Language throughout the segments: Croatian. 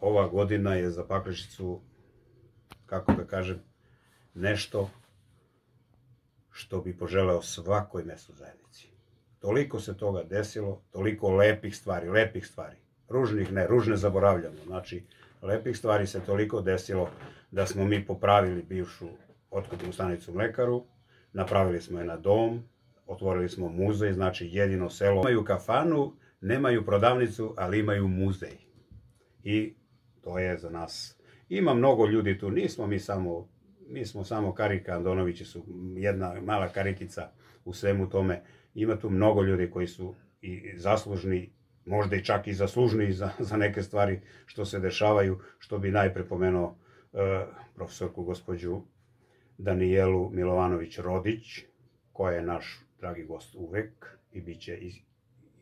Ova godina je za Pakračicu, kako da kažem, nešto što bi poželeo svakoj mesnoj zajednici. Toliko se toga desilo, toliko lepih stvari. Ružnih ne, ružne zaboravljamo. Znači, lepih stvari se toliko desilo da smo mi popravili bivšu otkupnu stanicu Mlekaru, napravili smo je na dom, otvorili smo muzej, znači jedino selo. Imaju kafanu, nemaju prodavnicu, ali imaju muzej. I to je za nas. Ima mnogo ljudi tu, nismo mi smo samo karika, Andonovići su jedna mala karikica u svemu tome. Ima tu mnogo ljudi koji su i zaslužni, možda i čak i zaslužni za neke stvari što se dešavaju, što bi najpre pomenuo profesorku gospođu Danijelu Milovanović-Rodić, koja je naš dragi gost uvek i bit će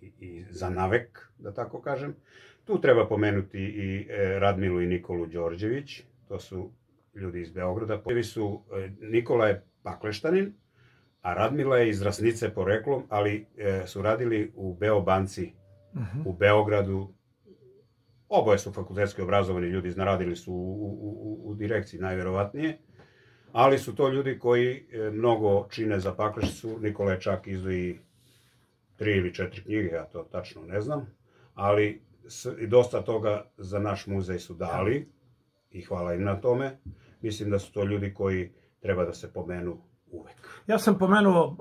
i za navek, da tako kažem. Tu treba pomenuti i Radmilu i Nikolu Đorđević, to su ljudi iz Beograda. Nikola je Pakleštanin, a Radmila je iz Rasnice poreklom, ali su radili u Beobanci, u Beogradu. Oboje su fakultetski obrazovani ljudi, radili su u direkciji najverovatnije, ali su to ljudi koji mnogo čine za Pakračicu. Nikola je čak izdao i 3 ili 4 knjige, ja to tačno ne znam, ali i dosta toga za naš muzej su dali i hvala im na tome. Mislim da su to ljudi koji treba da se pomenu uvek. Ja sam pomenuo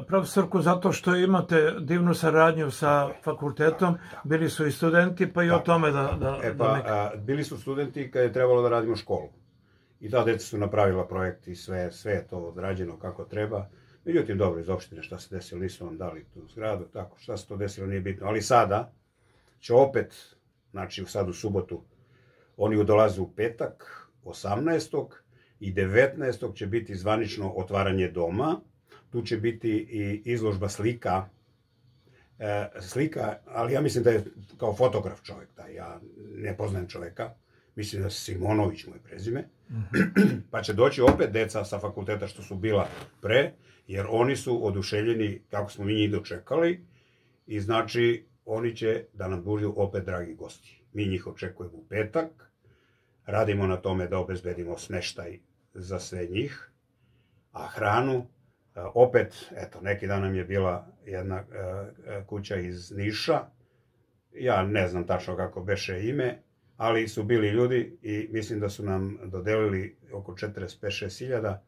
profesorku zato što imate divnu saradnju sa fakultetom, bili su i studenti, pa i o tome Bili su studenti kad je trebalo da radimo školu. I ta deca su napravila projekt i sve je to odrađeno kako treba. Međutim, dobro, iz opštine šta se desilo, nisu vam dali tu zgradu, tako, šta se to desilo nije bitno. Ali sada će opet, znači sad u subotu, oni dolaze u petak, 18. i 19. će biti zvanično otvaranje doma. Tu će biti i izložba slika, ali ja mislim da je kao fotograf čovjek taj, ja ne poznajem čovjeka, mislim da je Simonović mu je prezime, pa će doći opet deca sa fakulteta što su bila pre, jer oni su oduševljeni kako smo mi njih dočekali i znači oni će da nam budu opet dragi gosti. Mi njih očekujemo u petak, radimo na tome da obezbedimo smeštaj za sve njih, a hranu, opet, eto, neki dan nam je bila jedna kuća iz Niša, ja ne znam tačno kako beše ime, ali su bili ljudi i mislim da su nam dodelili oko 45-6 hiljada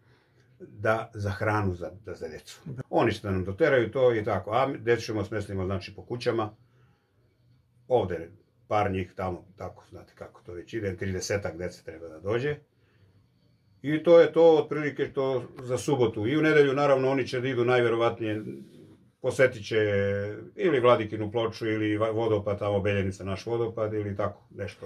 za hranu za decu. Oni će da nam doteraju to i tako, a decu ćemo smestimo znači po kućama, ovde par njih tamo, tako, znate kako to već ide, 30-ak dece treba da dođe. I to je to otprilike to za subotu. I u nedelju, naravno, oni će da idu najverovatnije, posetit će ili Vladikinu ploču ili vodopad, tamo Beljenica, naš vodopad ili tako nešto.